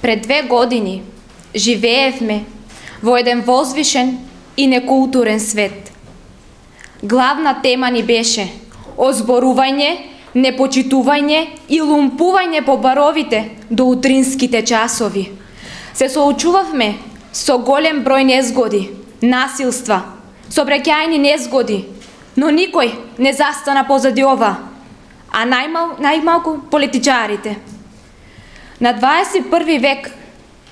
Пред 2 години живеевме во еден возвишен и некултурен свет. Главна тема ни беше озборување, непочитување и лумпување по баровите до утринските часови. Се соочувавме со голем број незгоди, насилства, сообраќајни незгоди, но никој не застана позади ова, а најмалку политичарите. На 21 век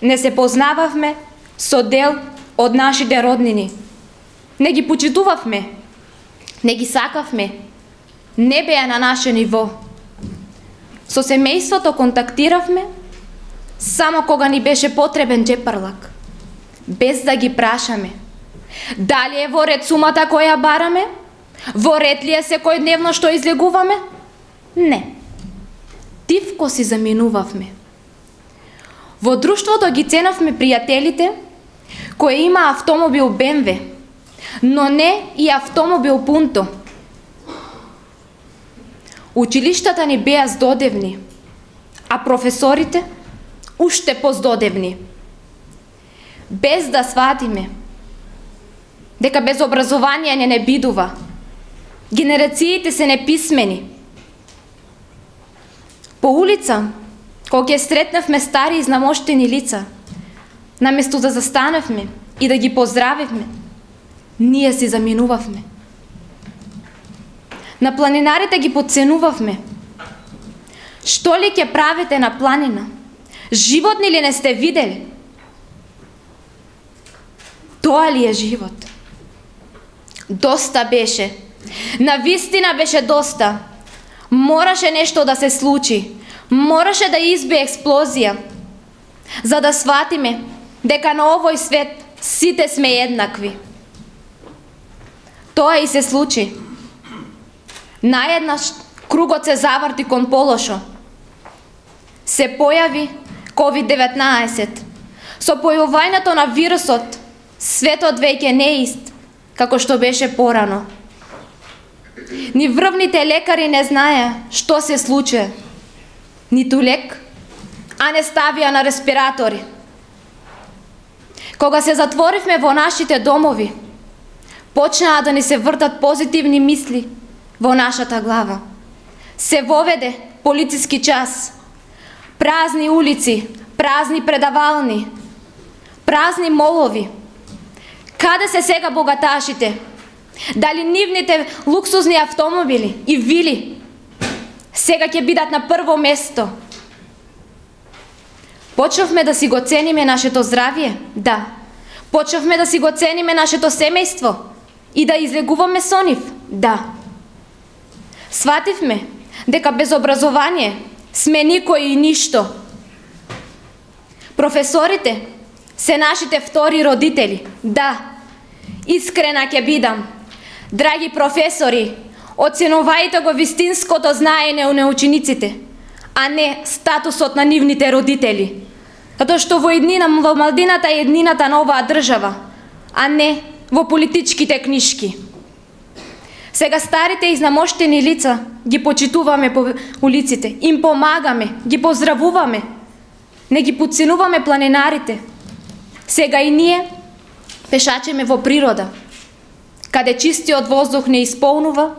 не се познававме со дел од нашите роднини. Не ги почитувавме, не ги сакавме, не беа на наше ниво. Со семејството контактиравме само кога ни беше потребен џепарлак, без да ги прашаме дали е во ред сумата која бараме, во ред ли е секојдневно што излегуваме? Не. Тивко си заминувавме. Во друштвото ги ценавме пријателите кои има автомобил БМВ, но не и автомобил Пунто. Училиштата ни беа здодевни, а професорите уште поздодевни. Без да сватиме дека без образование не бидува, генерациите се неписмени. По улица, кога ќе сретнавме стари изнамоштени лица, наместо да застанавме и да ги поздравивме, ние си заминувавме. На планинарите ги подценувавме. Што ли ќе правите на планина? Животни ли не сте видели? Тоа ли е живот? Доста беше. Навистина беше доста. Мораше нешто да се случи. Мораше да избие експлозија. За да сватиме дека на овој свет сите сме еднакви. Тоа и се случи. Наеднаш кругот се заврти кон полошо. Се појави COVID-19. Со појавувањето на вирусот, светот веќе не е ист, како што беше порано. Ни врвните лекари не знаеа што се случи. Ниту лек, а не ставија на респиратори. Кога се затворивме во нашите домови, почнаа да ни се вртат позитивни мисли во нашата глава. Се воведе полициски час, празни улици, празни предавални, празни молови. Каде се сега богаташите? Дали нивните луксузни автомобили и вили сега ќе бидат на прво место? Почнавме да си го цениме нашето здравје? Да. Почнавме да си го цениме нашето семејство и да излегуваме со нив? Да. Свативме дека без образование сме никој и ништо. Професорите се нашите втори родители. Да. Искрена ќе бидам. Драги професори, оценувајте го вистинското знаење на учениците, а не статусот на нивните родители. Затоа што во младината е еднината на оваа држава, а не во политичките книшки. Сега старите изнамоштени лица ги почитуваме по улиците, им помагаме, ги поздравуваме, не ги подценуваме планинарите. Сега и ние пешачеме во природа, каде чистиот воздух не исполнува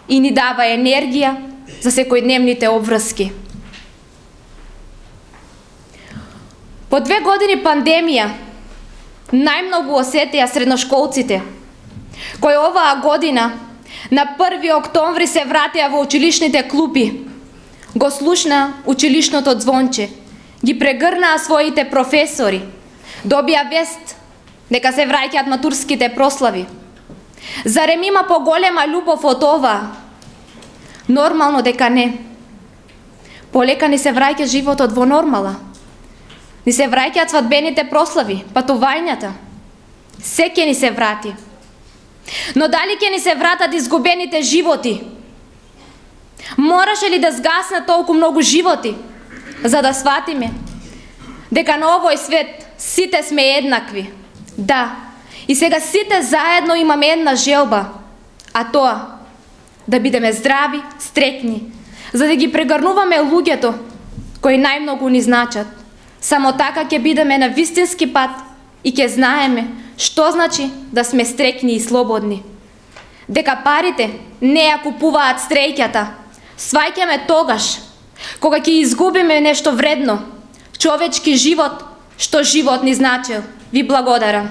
и ни дава енергија за секојдневните обврски. По 2 години пандемија најмногу осетија средношколците, кои оваа година на 1 октомври се вратија во училишните клупи, го слушна училишното звонче, ги прегрнаа своите професори, добија вест дека се враќаат матурските прослави. Зарем има поголема љубов од ова? Нормално дека не. Полека ни се враќа животот во нормала. Ни се враќаат свадбените прослави, патувањата. Се ќе ни се врати. Но дали ќе ни се вратат изгубените животи? Мораше ли да згасне толку многу животи за да сватиме дека на овој свет сите сме еднакви? Да. И сега сите заедно имаме една желба, а тоа да бидеме здрави, стрекни, за да ги прегрнуваме луѓето кои најмногу ни значат, Само така ќе бидеме на вистински пат и ќе знаеме што значи да сме стрекни и слободни. Дека парите не ја купуваат среќата, сваќаме тогаш, кога ќе изгубиме нешто вредно, човечки живот, што живот ни значил. Ви благодарам.